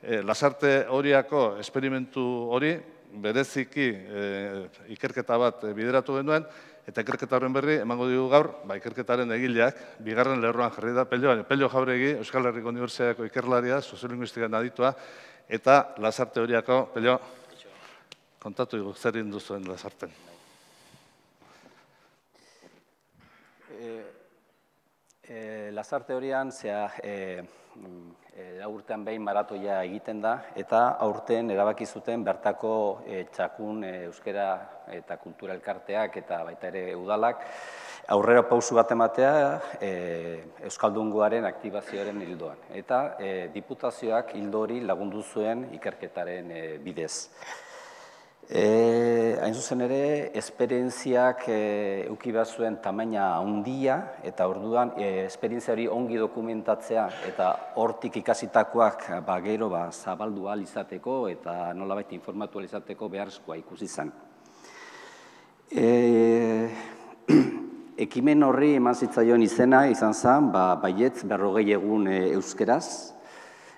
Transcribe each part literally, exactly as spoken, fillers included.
Lasarte Oriako esperimentu hori bereziki ikerketa bat bideratu genuen, eta ikerketa horren berri emango dugu gaur, ikerketaren egileak, bigarren lerroan jarri da, Pello Jauregi, Euskal Herriko Unibertsitateako ikerlaria, soziolinguistikan aditua, eta Lasarte Oriako, Pello, kontatu dugu zer egin duzuen Lasarten. Lasarte Orian, zea, urtean behin maratoia egiten da, eta aurten erabaki zuten bertako txakun euskera eta kultura elkarteak eta baita ere udalak aurrera pausu bat ematea Euskaldungoaren aktibazioaren hildoan. Eta diputazioak hildo hori lagundu zuen ikerketaren bidez. Hain zuzen ere, esperientziak eduki behar zuen tamaina handia, eta orduan esperientzia hori ongi dokumentatzea eta hortik ikasitakoak gero zabaldu ahal izateko eta nolabait informatu ahal izateko beharrezkoa ikusi zen. Ekimen horri eman zitzaion izena izan zen, baietz berrogei egun euskeraz,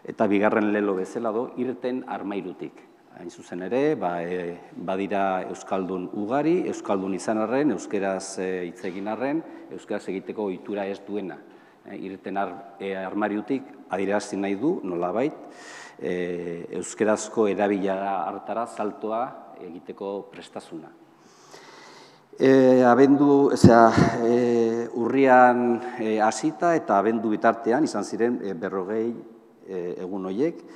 eta bigarren lelo bezala do, irten armairutik. Hain zuzen ere, badira Euskaldun ugari, Euskaldun izan arren, euskeraz hitz egin arren, euskeraz egiteko ohitura ez duena. Irten armariutik adierazten nahi du, nolabait, euskerazko erabilera hartara saltoa egiteko prestasuna. Abendu, urrian hasita eta abendu bitartean izan ziren berrogei egun horiek,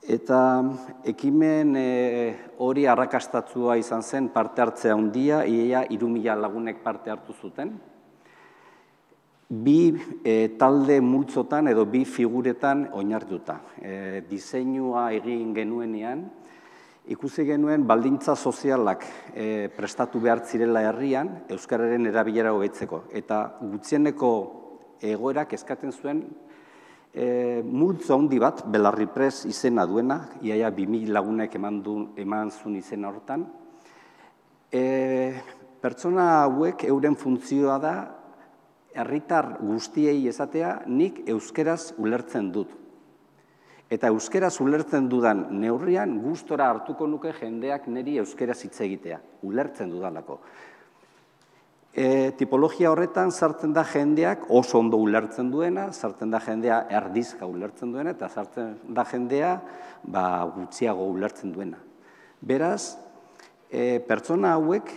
eta ekimen hori arrakastatua izan zen parte hartzea handia, ia hiru mila lagunek parte hartu zuten. Bi talde multzotan edo bi figuretan oinarrituta. Diseinua egin genuenean, ikusi genuen baldintza sozialak prestatu behar zirela herrian euskararen erabilera hobetzeko. Eta gutxieneko egoerak eskatzen zuen multzo handi bat, Belarri Press izena duena, iaia bi mila lagunek eman zuen izena hortan. Pertsona hauek euren funtzioa da, herritar guztiei esatea, nik euskeraz ulertzen dut. Eta euskeraz ulertzen dudan neurrian gustora hartuko nuke jendeak niri euskeraz hitz egitea, ulertzen dudalako. Tipologia horretan sartzen da jendeak oso ondo ulertzen duena, sartzen da jendea erdizka ulertzen duena, eta sartzen da jendea gutxiago ulertzen duena. Beraz, pertsona hauek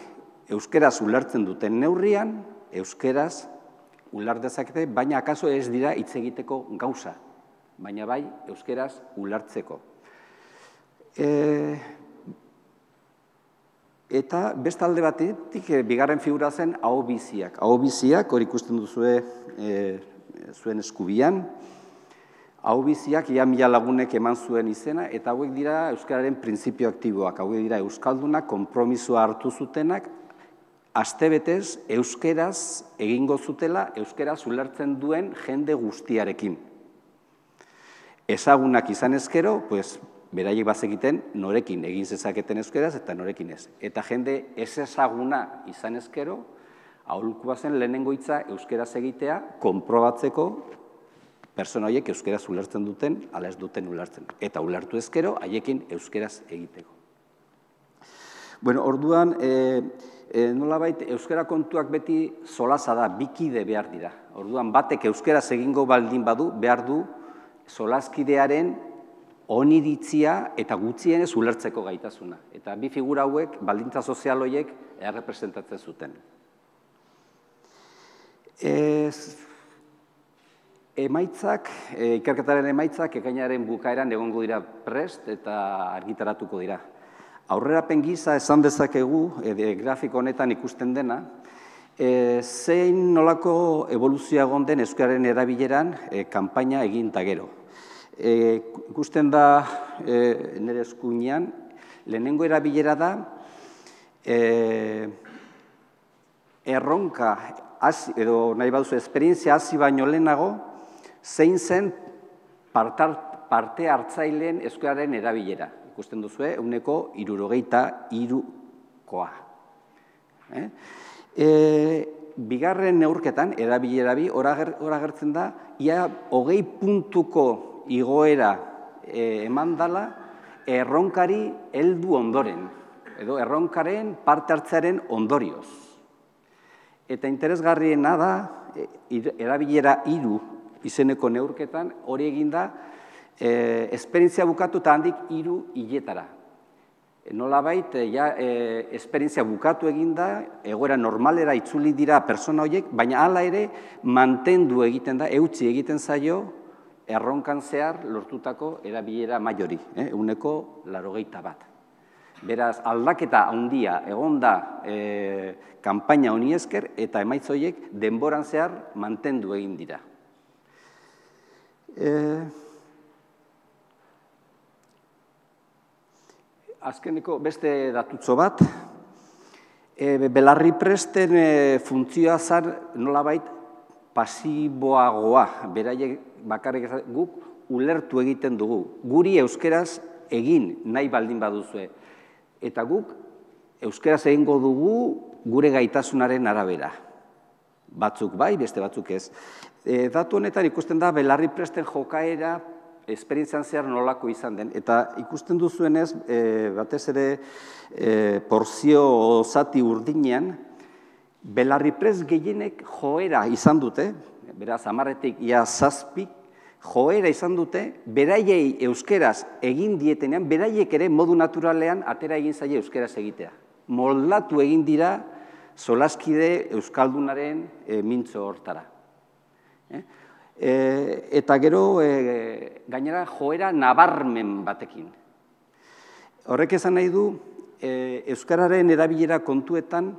euskeraz ulertzen duten neurrian, euskeraz uler dezakete, baina akaso ez dira hitz egiteko gauza, baina bai euskeraz ulertzeko. Eta beste alde batetik, bigarren figura zen ahobiziak. Ahobiziak, hori ikusten duzue zuen eskubian, ahobiziak ia mila lagunek eman zuen izena, eta hauek dira euskararen printzipio aktiboak, hauek dira euskaldunak konpromisoa hartu zutenak, astebetez euskeraz egingo zutela, euskeraz ulertzen duen jende guztiarekin. Ezagunak izan ezkero, pues, beraiek bazekiten norekin egin zezaketen euskeraz eta norekin ez. Eta jende ez ezaguna izan ezkero, aholkua zen lehenengo hitza euskeraz egitea, konprobatzeko pertsona horiek euskeraz ulertzen duten, ala ez duten ulertzen. Eta ulertu ezkero, haiekin euskeraz egiteko. Bueno, orduan, nolabait, euskera kontuak beti solaza da, bikide behar dira. Orduan, batek euskeraz egingo baldin badu, behar du solaskidearen oniritzia eta gutxienez ulertzeko gaitasuna. Eta bi figura hauek, baldintza sozial horiek, errepresentatzen zuten. Emaitzak, ikerketaren emaitzak, ekainaren bukaeran egongo dira prest eta argitaratuko dira. Aurrerapen gisa esan dezakegu, grafiko honetan ikusten dena, zein nolako evoluzioa egon den euskararen erabileran kanpaina egin eta gero. Ikusten da nire eskuinean, lehenengo erabilera da, erronka, edo nahi baduzu, esperientzia hasi baino lehenago, zein zen parte hartzaileen euskararen erabilera. Ikusten duzue, ehuneko hirurogeita hirukoa. Bigarren neurketan, erabilera bi, hor agertzen da, ia hogei puntuko igoera eman dala erronkari heldu ondoren, edo erronkaren parte hartzearen ondorioz. Eta interesgarriena da, erabilera hiru izeneko neurketan, hori eginda, esperientzia bukatu eta handik hiru hiletara. Nolabait, esperientzia bukatu eginda, egoera normalera itzuli dira pertsona horiek, baina hala ere mantendu egiten da, eutsi egiten zaio, erronkan zehar lortutako erabilera maiori, ehuneko laurogeita bat. Beraz, aldaketa handia egon da kanpaina honi esker eta emaitza horiek denboran zehar mantendu egin dira. Azkeneko beste datutxo bat, belarri presten funtzioa zan nolabait pasiboagoa, beraiek bakarrik guk ulertu egiten dugu. Guri euskeraz egin nahi baldin baduzue. Eta guk euskeraz egingo dugu gure gaitasunaren arabera. Batzuk bai, beste batzuk ez. Datu honetan ikusten da belarri presten jokaera esperientzian zehar nolako izan den. Eta ikusten duzuenez, batez ere porzio zati urdinean, belarri prest gehienek joera izan dute, beraz, hamarretik ia zazpik, joera izan dute, beraiei euskeraz egin dietenean, beraiek ere modu naturalean atera egin zaie euskeraz egitea. Moldatu egin dira solaskide euskaldunaren mintzo hortara. Eta gero, gainera, joera nabarmen batekin. Horrek esan nahi du, euskararen erabilera kontuetan,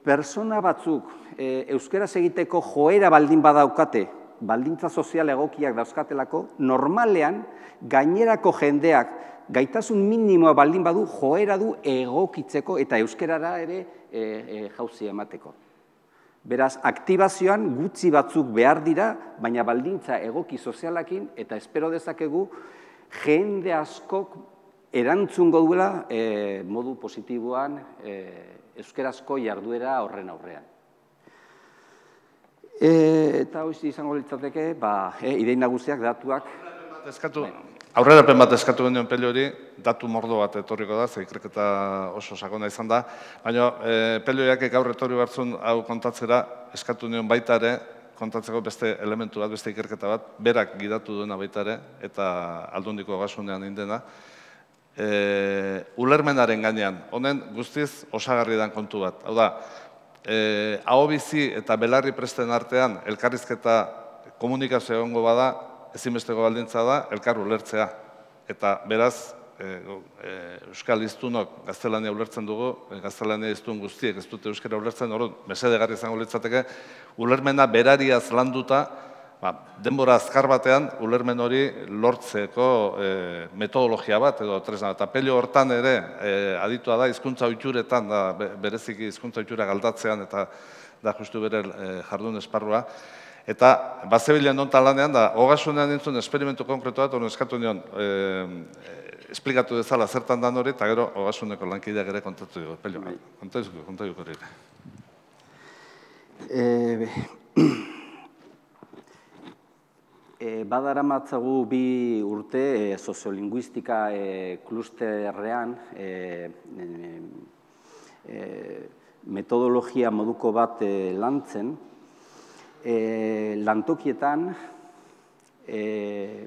persona batzuk euskeraz egiteko joera baldin badaukate, baldintza sozial egokiak dauzkatelako, normalean gainerako jendeak gaitasun minimoa baldin badu joera du egokitzeko eta euskerara ere jauzia emateko. Beraz, aktibazioan gutxi batzuk behar dira, baina baldintza egoki sozialakin eta espero dezakegu jende askok erantzungo duela modu positiboan euskerazko jarduera horren aurrean. Eta hoiz izango litzateke, idein nagusiak, datuak. Aurrerapen bat eskatu genuen Pello hori, datu mordo bat etorriko da, ze ikerketa oso sakona izan da, baina Pelloiak gaur etorri batzun hau kontatzera eskatu nion baita ere, kontatzeko beste elementu bat, beste ikerketa bat, berak gidatu duena baita ere, eta Aldundiko Ogasunean indena, ulermenaren gainean, honen guztiz osagarri dan kontu bat. Hau da, aho bizi eta belarri presten artean elkarrizketa komunikazio egongo bada, ezinbesteko baldintza da, elkar ulertzea. Eta beraz, euskal hiztunok gaztelania ulertzen dugu, gaztelania hiztun guztiek ez dute euskara ulertzen, hori mesedegarri izango litzateke, ulermena berariaz landuta, denbora azkar batean ulermen hori lortzeko metodologia bat edo tresna. Eta Pello hortan ere aditua da, hizkuntza ohituretan, bereziki hizkuntza ohitura galdatzean eta da justu bere jardun esparrua. Eta bazebilean nontan lanean da, Ogasunean nintzun esperimentu konkretu bat, hori eskatu nion, esplikatu dezala zertan dan hori, eta gero Ogasuneko lankideak ere kontatu dugu. Pello, kontatu dugu hori. Badaramatzagu bi urte soziolinguistika klusterrean metodologia moduko bat lantzen, lantokietan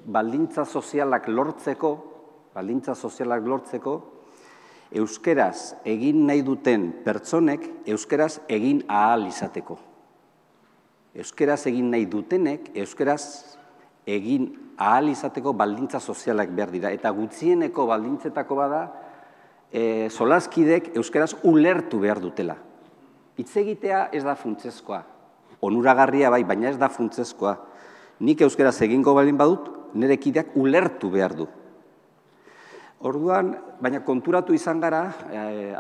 baldintza sozialak lortzeko, baldintza sozialak lortzeko, euskeraz egin nahi duten pertsonek euskeraz egin ahal izateko. Euskeraz egin nahi dutenek euskeraz egin ahal izateko baldintza sozialak behar dira. Eta gutxieneko baldintzetako bada, solaskidek euskeraz ulertu behar dutela. Hitz egitea ez da funtsezkoa. Onuragarria bai, baina ez da funtsezkoa. Nik euskeraz egingo baldin badut, nire kideak ulertu behar du. Orduan, baina konturatu izan gara,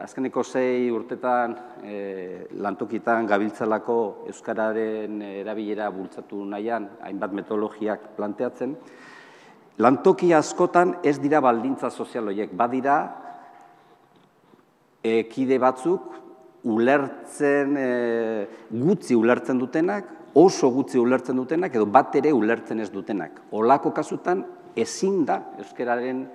azkeneko sei urtetan lantokitan gabiltzalako euskararen erabilera bultzatu nahian, hainbat metodologiak planteatzen, lantoki askotan ez dira baldintza sozial horiek, badira kide batzuk ulertzen, gutxi ulertzen dutenak, oso gutxi ulertzen dutenak, edo bat ere ulertzen ez dutenak. Olako kasutan ezin da euskararen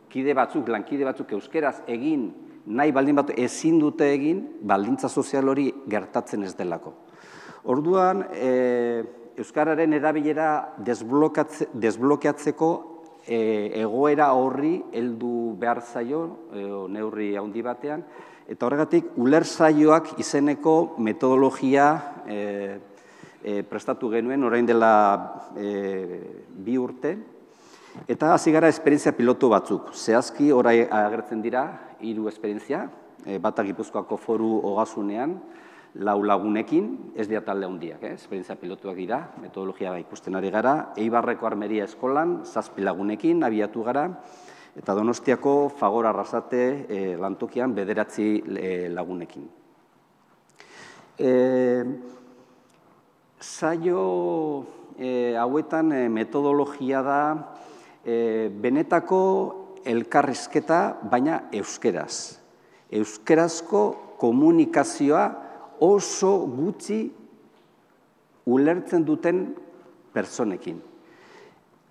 kide batzuk, lankide batzuk euskeraz egin, nahi baldin bat ezin dute egin, baldintza sozial hori gertatzen ez delako. Orduan, euskararen erabilera desblokeatzeko egoera horri heldu behar zaio, neurri handi batean, eta horregatik ulertzaioak izeneko metodologia prestatu genuen orain dela bi urte, eta hasi gara esperientzia pilotu batzuk. Zehazki orai agertzen dira hiru esperientzia, bata Gipuzkoako Foru Ogasunean, lau lagunekin, ez dira talde handiak, esperientzia pilotuak dira, metodologia ikusten ari gara, Eibarreko Armeria Eskolan, zazpi lagunekin abiatu gara, eta Donostiako Fagor Arrasate lantokian bederatzi lagunekin. Saio hauetan metodologia da benetako elkarrizketa, baina euskeraz. Euskerazko komunikazioa oso gutxi ulertzen duten pertsonekin.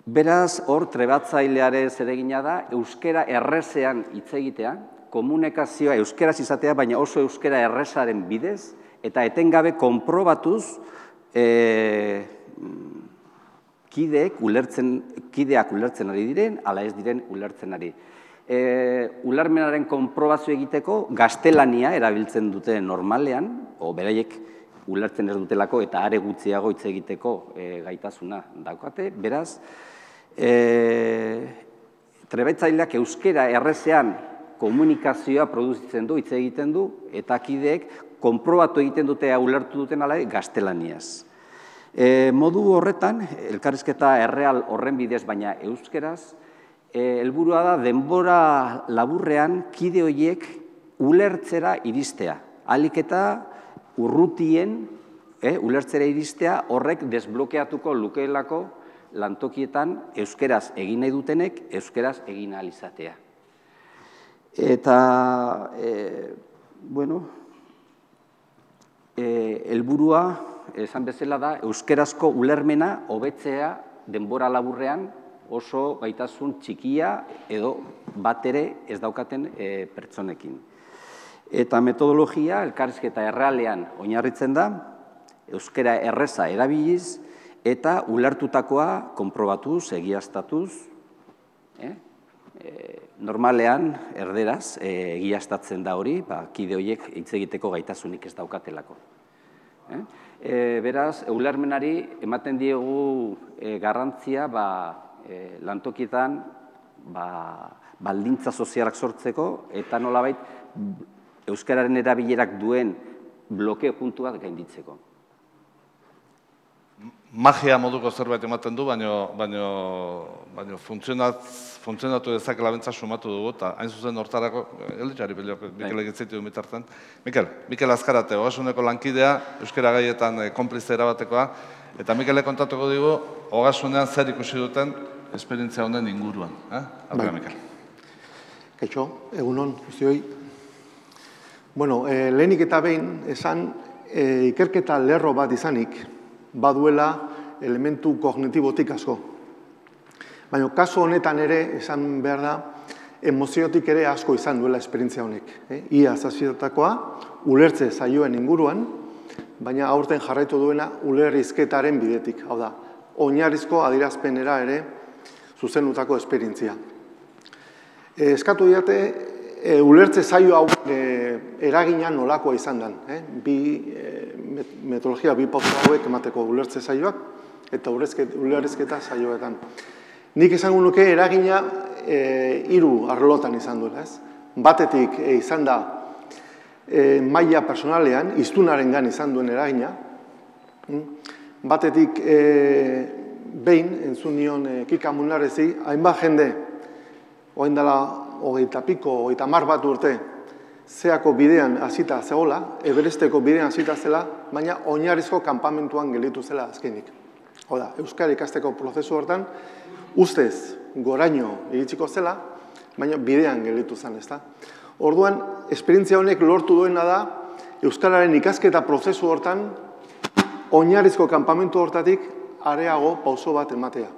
Beraz, hor trebatzailearen zeregina da, euskera errezean hitz egitea, komunikazioa euskeraz izatea, baina oso euskera errezaren bidez, eta etengabe konprobatuz kideak ulertzen ari diren, ala ez diren ulertzen ari. Ulermenaren konprobazio egiteko gaztelania erabiltzen dute normalean, o beraiek ulertzen ez dutelako eta are gutxiago hitz egiteko gaitasuna daukate. Beraz, trebatzaileak euskera errezean komunikazioa produzitzen du, hitz egiten du, eta kideek konprobatu egiten dute ulertu duten ala gaztelaniaz. Modu horretan, elkarrizketa erreal horren bidez, baina euskeraz, helburua da denbora laburrean kide horiek ulertzera iristea. Ahalik eta urrutien ulertzera iristea horrek desblokeatuko lukeelako lantokietan euskeraz egin nahi dutenek euskeraz egin ahal izatea. Eta, bueno, helburua, esan bezala da, euskerazko ulermena hobetzea denbora laburrean oso gaitasun txikia edo bat ere ez daukaten pertsonekin. Eta metodologia, elkarrizketa errealean oinarritzen da, euskera erreza erabiliz eta ulertutakoa konprobatuz, egiaztatuz, normalean erderaz egiaztatzen da hori, kide horiek hitz egiteko gaitasunik ez daukatelako. Beraz, ulermenari ematen diegu garrantzia lantokietan baldintza sozialak sortzeko eta nolabait euskararen erabilerak duen blokeo puntu bat gainditzeko. Magia moduko zerbait ematen du, baina funtzionatu dezakela bentsa sumatu dugu, eta hain zuzen hortarako, elitxari peliok, Mikel egitzitu mitartzen. Mikel, Mikel Azkarate, Ogasuneko lankidea, euskara gaietan konplize erabatekoa, eta Mikele kontatuko digu, Ogasunean zer ikusi duten esperientzia honen inguruan. Aurra, Mikel. Kaixo, egunon, guztioi. Bueno, lehenik eta behin, esan ikerketa lerro bat izanik, baduela elementu kognitibotik asko. Baina, kasu honetan ere, esan behar da, emoziotik ere asko izan duela esperientzia honek. Ia zazpitatakoa, ulertze zaioen inguruan, baina aurten jarraitu duena ulerrizketaren bidetik. Hau da, oinarrizko adierazpenera ere zuzenutako esperientzia. Eskatu diate, ulertze zaio hau eragina nolakoa izan den. Bi metodologia, bi pauta hauek emateko ulertze zaioak eta ulerrizketa zaioetan. Nik esango nuke eragina hiru arlotan izan duela. Batetik izan da maila personalean, hiztunarengan izan duen eragina. Batetik behin, entzun nion Kika Munarrezi, hainbat jende, orain dela hogeita piko, hogeita hamar bat urte, zeako bidean hasita zegoela, Everesteko bidean hasita zela, baina oinarrizko kanpamentuan gelditu zela azkenik. Hau da, euskara ikasteko prozesu hortan, ustez goraino iritsiko zela, baina bidean gelditu zen, ezta? Orduan, esperientzia honek lortu duena da, euskararen ikasketa prozesu hortan, oinarrizko kanpamentu hortatik areago pauso bat ematea.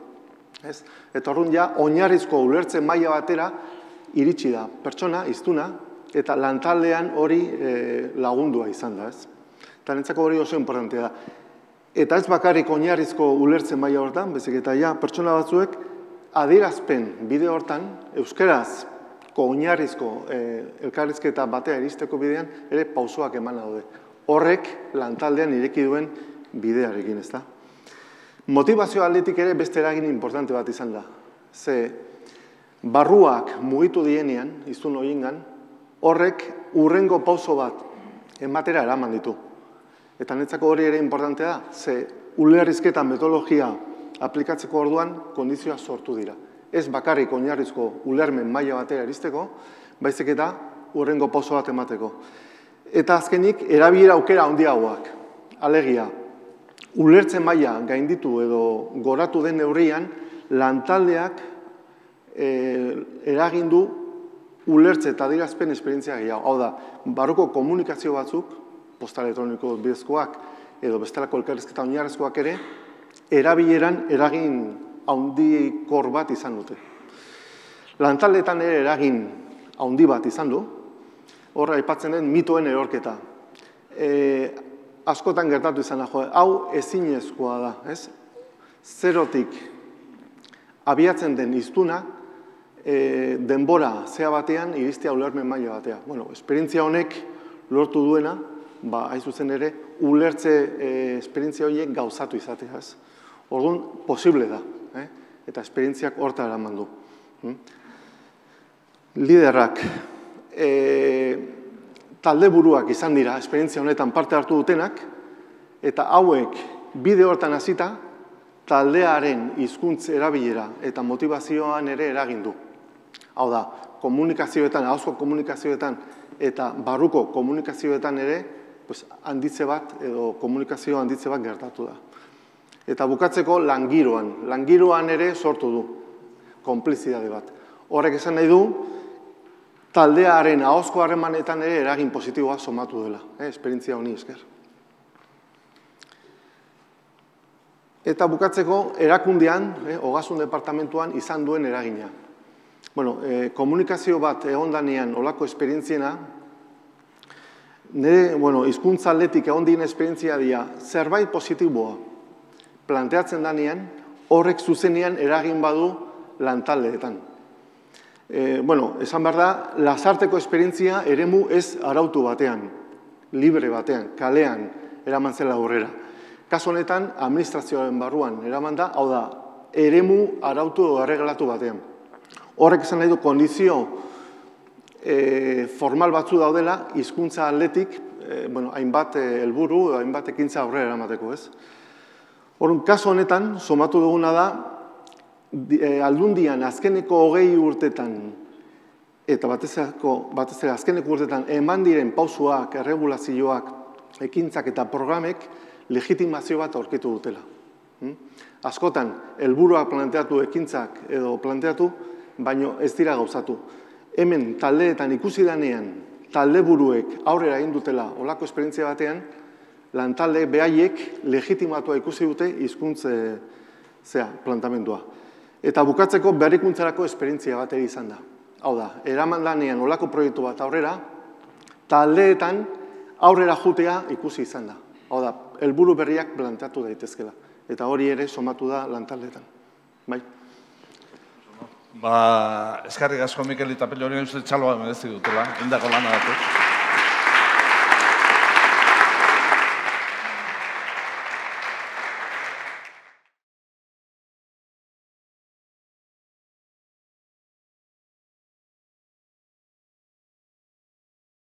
Eta orduan ja, oinarrizko ulertzen maila batera iritsi da pertsona, hiztuna, eta lantaldean hori lagundua izan da. Eta nintzako hori oso importantea da. Eta ez bakarrik oinarrizko ulertzen maila hortan, bezik eta ja, pertsona batzuek adierazpen bide hortan, euskeraz oinarrizko elkarrizketa batea iristeko bidean, ere pausoak eman daude. Horrek lantaldean ireki duen bidearekin, ez da. Motivazio aldetik ere beste eragin importante bat izan da. Ze barruak mugitu dienean, izun horiengan, horrek urrengo pauso bat ematera eraman ditu. Eta netzako hori ere importantea da, ze ulerrizketa metodologia aplikatzeko orduan kondizioa sortu dira. Ez bakarrik oinarrizko ulermen maila batera iristeko, baizik eta urrengo pauso bat emateko. Eta azkenik, erabilera aukera handiagoak. Alegia, ulertzen maila gainditu edo goratu den neurrian, lantaldeak eragindu ulertze eta adierazpen esperientzia gehiago. Hau da, barruko komunikazio batzuk, posta elektroniko bidezkoak edo bestelako elkarrizketa oinarrizkoak ere, erabileran eragin haundikor bat izan dute. Lantaldeetan ere eragin haundi bat izan du, horra aipatzen den mitoen erorketa. Askotan gertatu izan da, hau ezinezkoa da, ez? Zerotik abiatzen den hiztuna, denbora zea batean iristea ulermen maila batea. Bueno, esperientzia honek lortu duena, ba, hain zuzen ere, ulertze esperientzia horiek gauzatu izatea, ez? Orduan, posible da, eta esperientziak horta eraman du. Liderrak, talde buruak izan dira, esperientzia honetan parte hartu dutenak, eta hauek bide hortan hasita, taldearen hizkuntz erabilera eta motivazioan ere eragin du. Hau da, komunikazioetan, ahozko komunikazioetan eta barruko komunikazioetan ere handitze bat edo komunikazio handitze bat gertatu da. Eta bukatzeko langiroan. Langiroan ere sortu du konplizidade bat. Horrek esan nahi du, taldearen ahozko harremanetan ere eragin positiboa somatu dela, esperientzia honi esker. Eta bukatzeko erakundean, ogasun departamentuan izan duen eragina. Bueno, komunikazio bat egondanean olako esperientziena, nire, bueno, hizkuntza aldetik egon dien esperientzia dira, zerbait positiboa planteatzen danean, horrek zuzenean eragin badu lantaldeetan. Bueno, esan behar da, lasarteko esperientzia eremu ez arautu batean, libre batean, kalean eraman zela aurrera. Kasu honetan, administrazioaren barruan eraman da, hau da, eremu arautu edo erregelatu batean. Horrek esan nahi du, kondizio formal batzu daudela, hizkuntza aldetik, hainbat helburu, hainbat ekintza aurrera eramateko, ez? Horren, kasu honetan, somatu duguna da, aldundian azkeneko hogei urtetan, eta batez ere azkeneko urtetan, eman diren pausuak, erregulazioak, ekintzak eta programek, legitimazio bat aurkitu dutela. Askotan, helburuak planteatu ekintzak edo planteatu, baino ez dira gauzatu. Hemen taldeetan ikusi danean, talde buruek aurrera egin dutela olako esperientzia batean, lantalde behaiek legitimatua ikusi dute hizkuntze plantamendua. Eta bukatzeko berrikuntzarako esperientzia bat ere izan da. Hau da, eraman danean olako proiektu bat aurrera, taldeetan aurrera jutea ikusi izan da. Hau da, helburu berriak planteatu daitezkela. Eta hori ere somatu da lantaldeetan. Bai? Ba, eskarrik asko Mikel eta Pello hori uste txaloa merezi dutela, indako lana datu.